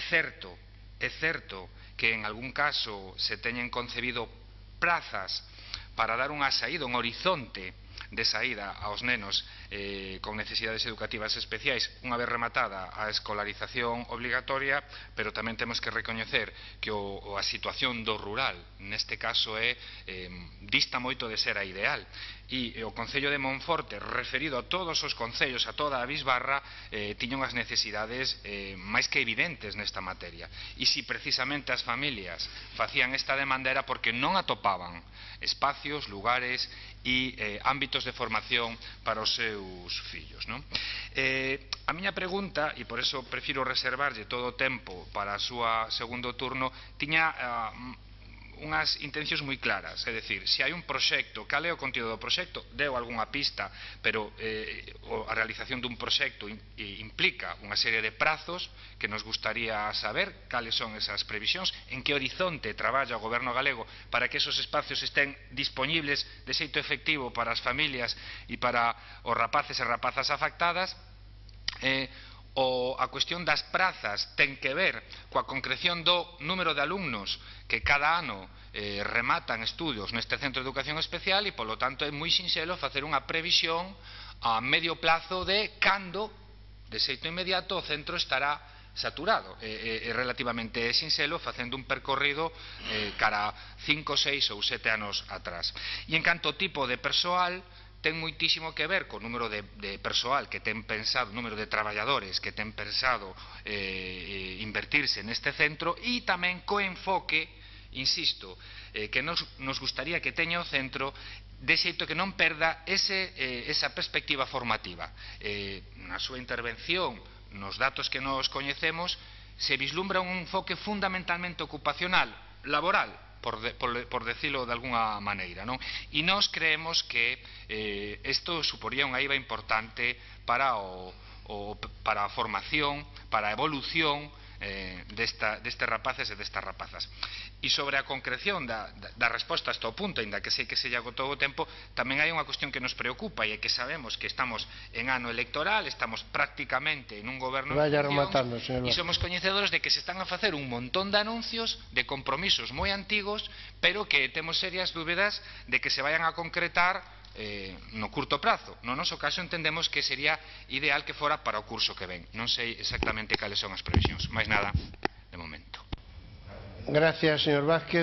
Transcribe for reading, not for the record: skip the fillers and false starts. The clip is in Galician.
certo que en algún caso se teñen concebido prazas para dar unha saída, un horizonte de saída aos nenos con necesidades educativas especiais unha vez rematada a escolarización obligatoria, pero tamén temos que recoñecer que a situación do rural neste caso dista moito de ser a ideal, e o Concello de Monforte, referido a todos os concellos, a toda a bisbarra, tiña unhas necesidades máis que evidentes nesta materia, e se precisamente as familias facían esta demanda era porque non atopaban espacios, lugares e ámbitos de formación para os seus fillos, non? A miña pregunta, e por eso prefiro reservarlle todo o tempo para o seu segundo turno, tiña unhas intencións moi claras, é dicir, se hai un proxecto, cal é o contido do proxecto? Deu algunha pista, pero a realización dun proxecto implica unha serie de prazos que nos gustaría saber cales son esas previsións, en que horizonte traballa o goberno galego para que esos espacios estén disponibles de xeito efectivo para as familias e para os rapaces e rapazas afectadas. A cuestión das prazas ten que ver coa concreción do número de alumnos que cada ano rematan estudios neste centro de educación especial e, polo tanto, é moi sinxelo facer unha previsión a medio plazo de cando, de xeito inmediato, o centro estará saturado. É relativamente sinxelo facendo un percorrido cara 5, 6 ou 7 anos atrás. E en canto ao tipo de persoal, ten moitísimo que ver co número de persoal que ten pensado, número de traballadores que ten pensado invertirse neste centro, e tamén co enfoque, insisto, que nos gustaría que teña o centro, de xeito que non perda esa perspectiva formativa. Na súa intervención, nos datos que nos coñecemos, se vislumbra un enfoque fundamentalmente ocupacional, laboral, por decirlo de alguna maneira, non? E nós creemos que isto suporía unha IVA importante para a formación, para a evolución destes rapaces e destas rapazas. E sobre a concreción da resposta hasta o punto, ainda que sei que se lle agotou o tempo, tamén hai unha cuestión que nos preocupa, e é que sabemos que estamos en ano electoral, estamos prácticamente en un goberno en funcións, e somos coñecedores de que se están a facer un montón de anuncios de compromisos moi antigos, pero que temos serias dúbidas de que se vayan a concretar no curto prazo. No noso caso entendemos que sería ideal que fora para o curso que ven. Non sei exactamente cales son as previsións. Máis nada, de momento. Gracias, señor Vázquez.